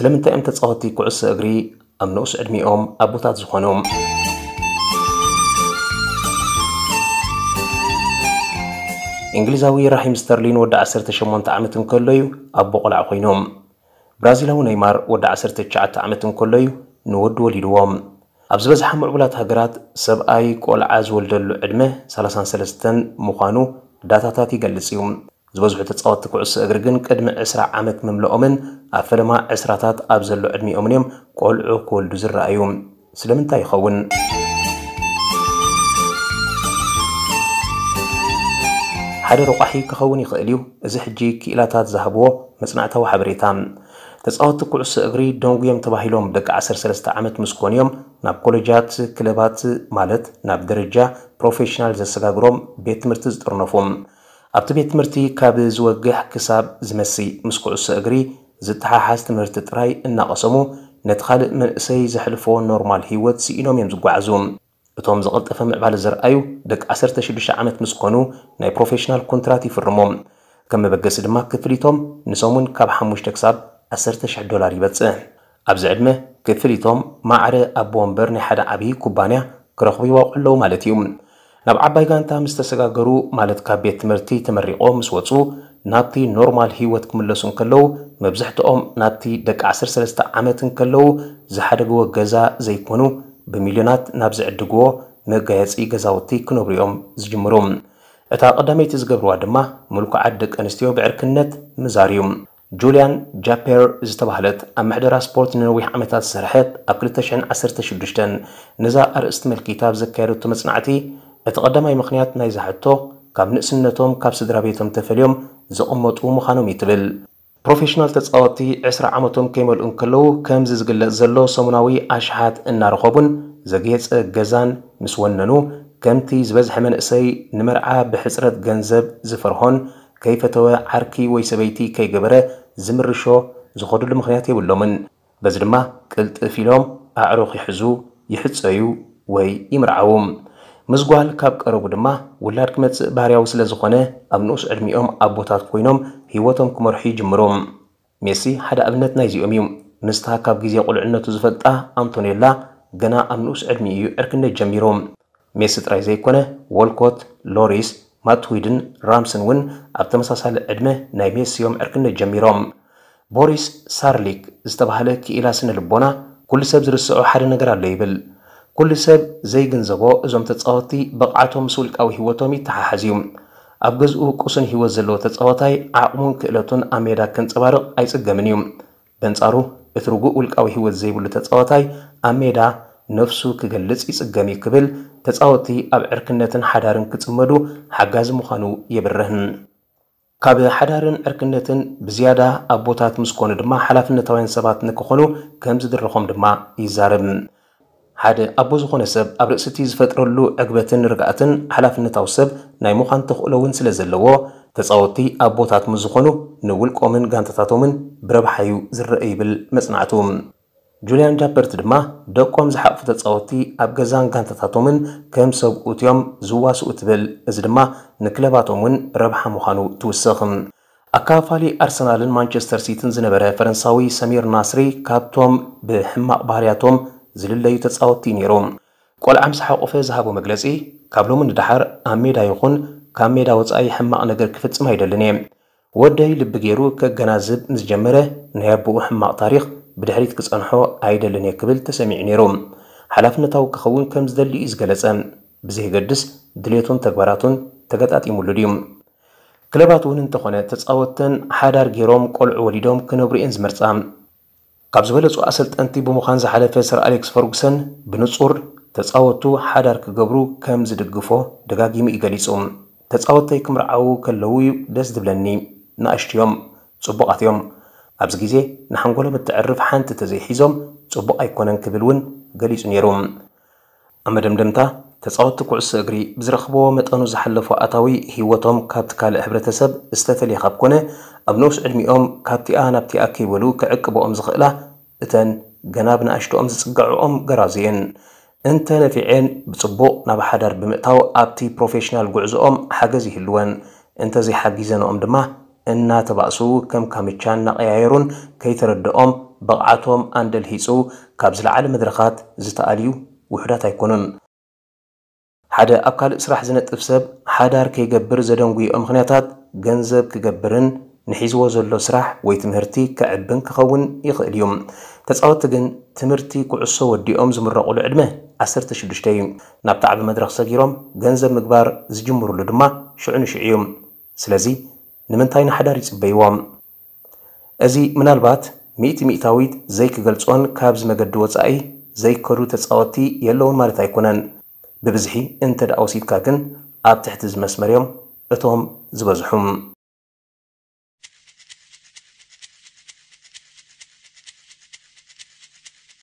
ስለምንታይ እዮም ተጻወትቲ ኩዕሶ እግሪ ኣብ ንኡስ ዕድሚኦም ኣቦታት ዝኾኑ? እንግሊዛዊ ራሂም ስተርሊን ወዲ ዓሰርተ ሸሞንተ ዓመት እንከሎ እዩ ኣቦ ቆልዓ ኮይኑ። ብራዚላዊ ነይማር ወዲ ዓሰርተ ትሽዓተ ዓመት እንከሎ እዩ ንወዱ ወሊድዎ። ኣብ ዝበዝሓ ምዕቡላት ሃገራት ሰብኣይ ቆልዓ ዝወልደሉ ዕድመ ሰላሳን ሰለስተን ምዃኑ ዳታታት ይገልጽ እዩ። ዝበዝሑ ተጻወትቲ ኩዕሶ እግሪ ግን ቅድሚ ዕስራ ዓመት ምምልኦምን ኣብ ፈለማ ዕስራታት ኣብ ዘሎ ዕድሚኦምን እዮም ቆልዑ ክወልዱ ዝረኣዩ። ስለምንታይ ይኸውን? ሓደ ረቋሒ ክኸውን ይኽእል እዩ። እዚ ሕጂ ክኢላታት ዝሃብዎ መጽናዕታዊ ሓበሬታ። ተጻወትቲ ኩዕሶ እግሪ ደንጉዮም ተባሂሎም ደቂ ዓሰርተ ሰለስተ ዓመት ምስ ኮኑ እዮም ናብ ኮሌጃት፣ ክለባት ማለት ናብ ደረጃ ፕሮፌሽናል ዘሰጋግሮም ቤት ትምህርቲ ዝጥርነፉ። ኣብቲ ቤት ትምህርቲ ካብ ዝወግሕ ክሳብ ዝመሲ ምስ ኩዕሶ እግሪ ዝተሓሓዝ ትምህርቲ ጥራይ እናቐሰሙ ነቲ ካልእ መንእሰይ ዘሕልፎ ኖርማል ህይወት ስኢኖም እዮም ዝጓዓዙ። እቶም ዝቐልጠፈ ምዕባለ ዘርኣዩ ደቂ ዓሰርተ ሽዱሽተ ዓመት ምስ ኮኑ ናይ ፕሮፌሽናል ኮንትራት ይፍርሙ። ከም መበገሲ ድማ ክፍሊቶም ንሰሙን ካብ ሓሙሽተ ክሳብ ዓሰርተ ሽሕ ዶላር ይበጽሕ። ኣብዚ ዕድመ ክፍሊቶም ማዕረ ኣቦ ወንበር ናይ ሓደ ዓብዪ ኩባንያ ክረኽቡ ይዋቕዑ ኣለዉ ማለት እዩ። ናብ ዓባይ ጋንታ ምስ ተሰጋገሩ ማለት ካብ ቤት ትምህርቲ ተመሪቖ ምስ ወጹ ናብቲ ኖርማል ህይወት ክምለሱ እንከለዉ መብዝሕትኦም ናብቲ ደቂ ዓሰርተ ሰለስተ ዓመት እንከለዉ ዝሓደግዎ ገዛ ዘይኮኑ ብሚልዮናት ናብ ዝዕድግዎ መጋየጺ ገዛውቲ ክነብሩ እዮም ዝጅምሩ። እታ ቀዳመይቲ ዝገብርዋ ድማ ምልኩዓት ደቂ ኣንስትዮ ብዕርክነት ምዛር እዩ። ጁልያን ጃፔር ዝተባህለት ኣብ ምሕደራ ስፖርት ንነዊሕ ዓመታት ዝሰርሐት ኣብ ክልተ ሽሕን ዓሰርተ ሽዱሽተን ነዛ ኣርእስቲ መልኪታ ኣብ ዘካየደቶ መጽናዕቲ እቲ ቀዳማይ ምኽንያት ናይዛ ሕቶ ካብ ንእስነቶም ካብ ስድራ ቤቶም ተፈልዮም ዝቕመጡ ምዃኖም እዩ ትብል። ፕሮፌሽናል ተጻወትቲ ዕስራ ዓመቶም ከይመልኡ እንከለዉ ከምዚ ዝግለጽ ዘሎ ሰሙናዊ ኣሽሓት እናረኸቡን ዘግየጸ ገዛን ምስ ወነኑ ከምቲ ዝበዝሐ መንእሰይ ንመርዓ ብሕጽረት ገንዘብ ዝፈርሆን ከይፈተወ ዓርኪ ወይ ሰበይቲ ከይገበረ ዝምርሾ ዝኸዱሉ ምኽንያት የብሎምን። በዚ ድማ ቅልጥፍ ኢሎም ኣዕሩኽ ይሕዙ፣ ይሕጸዩ ወይ ይምርዓዉ። ምስ ጓል ካብ ቀረቡ ድማ ውላድ ክመጽእ ባህርያዊ ስለ ዝኾነ ኣብ ንኡስ ዕድሚኦም ኣቦታት ኮይኖም ህይወቶም ክመርሑ ይጅምሩ። ሜሲ ሓደ ኣብነት ናይዚኦም እዩ። ምስታ ካብ ግዜ ቁልዕነቱ ዝፈልጣ ኣንቶኔላ ገና ኣብ ንኡስ ዕድሚኡ እዩ ዕርክነት ጀሚሩ። ሜሲ ጥራይ ዘይኮነ፣ ዎልኮት፣ ሎሪስ፣ ማትዊድን ራምስን እውን ኣብ ተመሳሳሊ ዕድመ ናይ ሜሲ እዮም ዕርክነት ጀሚሮም። ቦሪስ ሳርሊክ ዝተባህለ ክኢላ ስነ ልቦና፣ "ኩሉ ሰብ ዝርስዖ ሓደ ነገር ኣሎ" ይብል። ኩሉ ሰብ ዘይግንዘቦ፣ እዞም ተጻወትቲ ብቕዓቶም ምስ ውልቃዊ ህይወቶም ይተሓሓዝ እዩ። ኣብ ገዝኡ ቅሱን ህይወት ዘለዎ ተጻዋታይ ዓቕሙን ክእለቱን ኣብ ሜዳ ከንጸባርቕ ኣይጽገምን እዩ። በንጻሩ፣ እቲ ርጉእ ውልቃዊ ህይወት ዘይብሉ ተጻዋታይ ኣብ ሜዳ ነፍሱ ክገልጽ ይጽገም እዩ ክብል፣ ተጻወትቲ ኣብ ዕርክነትን ሓዳርን ክጽመዱ ሓጋዚ ምዃኑ የብርህ። ካብ ሓዳርን ዕርክነትን ብዝያዳ ኣቦታት ምስ ኮኑ ድማ ሓላፍነታውያን ሰባት ንክኾኑ ከም ዝድርኾም ድማ ይዛረብ። ሓደ ኣቦ ዝኾነ ሰብ ኣብ ርእሲ እቲ ዝፈጥረሉ ዕግበትን ርግኣትን ሓላፍነታዊ ሰብ ናይ ምዃን ተኽእሎ እውን ስለ ዘለዎ፣ ተጻወትቲ ኣቦታት ምስ ዝኾኑ ንውልቆምን ጋንታታቶምን ብረብሓ እዩ ዝረአ ይብል መጽናዕቱ። ጁልያን ጃፐርት ድማ ደቆም ዝሓቕፉ ተጻወትቲ ኣብ ገዛን ጋንታታቶምን ከም ሰብኡት እዮም ዝዋስኡ ትብል። እዚ ድማ ንክለባቶም እውን ረብሓ ምዃኑ ትውስኽ። ኣካፋሊ ኣርሰናልን ማንቸስተር ሲቲን ዝነበረ ፈረንሳዊ ሰሚር ናስሪ ካብቶም ብሕማቕ ባህርያቶም ዝልለዩ ተጻወትቲ እዩ ነይሩ። ቆልዓ ምስ ሓቆፈ ዝሃቦ መግለጺ፣ "ካብ ሎሚ ንደሓር ኣብ ሜዳ ይኹን ካብ ሜዳ ወጻኢ ሕማቕ ነገር ክፍጽም ኣይደልን እየ። ወደይ ልቢ ገይሩ ከገናዝብ ምስ ጀመረ፣ ናይ ኣቦኡ ሕማቕ ታሪኽ ብድሕሪት ክጸንሖ ኣይደልን እየ" ክብል ተሰሚዑ ነይሩ። ሓላፍነታዊ ክኸውን ከም ዝደሊ እዩ ዝገለጸ። ብዘየገድስ ድሌቱን ተግባራቱን ተገጣጢሙሉ ድዩ? ክለባት እውን እንተኾነ ተጻወተን ሓዳር ገይሮም ቆልዑ ወሊዶም ክነብሩ እየን ዝመርጻ። ካብ ዝበለጹ ኣሰልጠንቲ ብምዃን ዝሓለፈ ሰር ኣሌክስ ፈርጉሰን ብንጹር ተጻወቱ ሓዳር ክገብሩ ከም ዝድግፎ ደጋጊሙ እዩ ገሊጹ። "ተጻወተይ ክምርዓዉ ከለዉ እዩ ደስ ዝብለኒ። ንኣሽቱ እዮም፣ ጽቡቓት እዮም። ኣብዚ ግዜ ንሓንጎሎም እተዕርፍ ሓንቲ ተዘይሒዞም ጽቡቕ ኣይኮነን" ክብል እውን ገሊጹ ነይሩ። ኣብ መደምደምታ፣ ተጻወትቲ ኩዕሶ እግሪ ብዝረኽብዎ መጠኑ ዝሓለፎ ኣታዊ ህይወቶም ካብቲ ካልእ ሕብረተሰብ ዝተፈልየ ካብ ኮነ፣ ኣብ ንኡስ ዕድሚኦም ካብቲኣ ናብቲኣ ከይበሉ ክዕቅብኦም ዝኽእላ እተን ገና ብንኣሽቶኦም ዝጽግዕኦም ገራዙ እየን። እንተ ነፊዐን ብጽቡቕ ናብ ሓዳር ብምእታው ኣብቲ ፕሮፌሽናል ጉዕዞኦም ሓገዝ ይህልወን፣ እንተ ዘይሓጊዘንኦም ድማ እናተባእሱ ከም ካምቻ እናቐያየሩን ከይተረድኦም ብቕዓቶም ኣንደልሂጹ ካብ ዝለዓለ መድረኻት ዝተኣልዩ ውሑዳት ኣይኮኑን። ሓደ ኣብ ካልእ ስራሕ ዝነጥፍ ሰብ ሓዳር ከይገብር ዘደንጉይኦ ምኽንያታት ገንዘብ ክገብርን ንሒዝዎ ዘሎ ስራሕ ወይ ትምህርቲ ከዕብን ክኸውን ይኽእል እዩ። ተጻወትቲ ግን ትምህርቲ ኩዕሶ ወዲኦም ዝምረቑሉ ዕድመ ዓሰርተ ሽዱሽተ እዩ። ናብቲ ዓቢ መድረኽ ሰጊሮም ገንዘብ ምግባር ዝጅምሩሉ ድማ ሽዑ ንሽዑ እዩ። ስለዚ ንምንታይ ንሓዳር ይጽበይዎም? እዚ ምናልባት ሚእቲ ሚእታዊት ዘይክገልጾን ካብዚ መገዲ ወጻኢ ዘይከዱ ተጻወትቲ የለውን ማለት ኣይኮነን። ብብዝሒ እንተ ደኣ ወሲድካ ግን ኣብ ትሕቲ እዚ መስመር እዮም እቶም ዝበዝሑ።